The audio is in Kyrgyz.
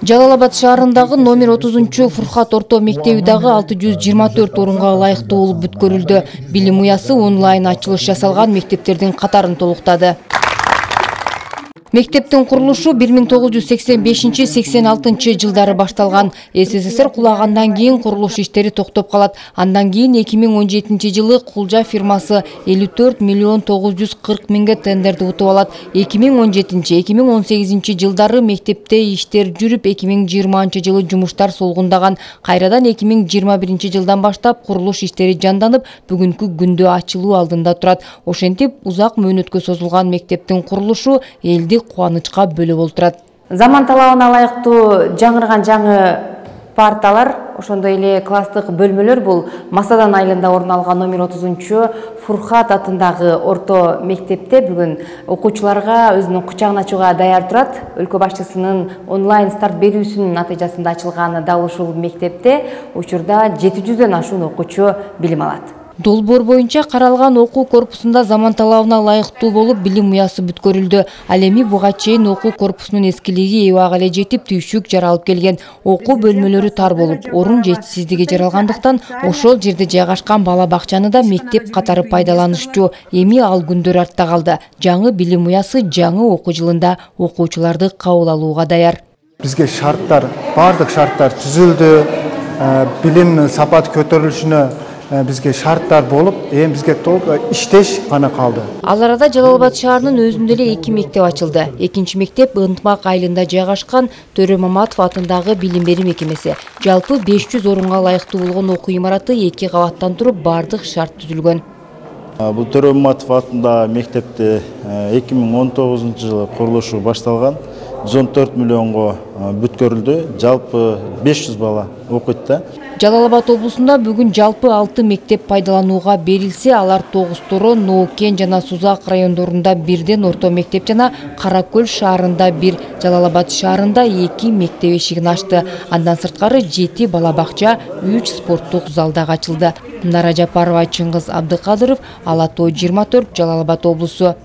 Жалал Абад шаарындагы номер 30 Фуркат орто мектеби дагы 624 орунга ылайыктуу болуп бүткөрүлдү. Билим уясы онлайн ачылыш жасалган мектептердин катарын толуктады. Мектептин курулушу 1985-86 жылдары башталган. СССР кулагандан кийин курулуш иштери токтоп калат. Андан кийин 2017 жылы Кулжа фирмасы 54 миллион 940 миңге тендерди утуп алат. 2017-2018 жылдары мектепте иштер жүрүп, 2020 жылы жумуштар солгундаган. Кайрадан 2021 жылдан баштап курулуш иштери жанданып, бүгүнкү күндө ачылуу алдында турат. Ошентип, узак мөөнөткө созулган мектептин курулушу элди кубанычка бөлөп олтурат. Заман талабына ылайыктуу жаңырган жаңы парталар, ошондой эле класстык бөлмөлөр бул Масадан айылында орун алган номер 30 Фуркат атындагы орто мектепте бүгүн окуучуларга өзүнүн кучагын ачууга даяр турат. Өлкө башчысынын онлайн старт берүүсүнүн натыйжасында ачылган дал ушул мектепте учурда 700дөн ашуун окуучу билим алат. Долбоор боюнча каралган окуу корпусунда заман талабына ылайыктуу болуп билим уясы бүткөрүлдү. Ал эми буга чейин окуу корпусунун эскилиги эбага эле жетип, түйшүк жаралып келген. Окуу бөлмөлөрү тар болуп, орун жетишсиздиги жаралгандыктан ошол жерде жайгашкан бала бакчаны да мектеп катары пайдаланышчу. Эми ал күндөр артта калды. Жаңы билим уясы жаңы окуу жылында окуучуларды кабыл алууга даяр. Бизге бардык шарттар түзүлдү. Билим сапаты көтөрүлүшүнө бизге шарттар болуп, эми бизге толук иштеш гана калды. Ал арада Жалал Абад шаарынын өзүндө эле 2 мектеп ачылды. Экинчи мектеп Ынтмак айылында жайгашкан Төрө Маматов атындагы билим берүү мекемеси. Жалпы 500 орунга ылайыктуу болгон окуу имараты 2 кабаттан туруп, бардык шарт түзүлгөн. Бул Төрө Маматов атындагы мектепте 2019 жылы курулушу башталган. 114 миллионго бүткөрүлдү. Жалпы 500 бала окуйт да. Жалал Абад облусунда бүгүн жалпы 6 мектеп пайдаланууга берилсе, алар Тогуз-Торон, Ноокен жана Сузак райондорунда бирден орто мектеп жана Кара Көл шаарында 1, Жалал Абад шаарында 2 мектеп эшигин ачты. Андан сырткары 7 бала бакча, 3 спорттук зал дагы ачылды. Нара Жапарова, Чыңгыз Абдыкадыров, Ала Тоо 24, Жалал Абад облусу.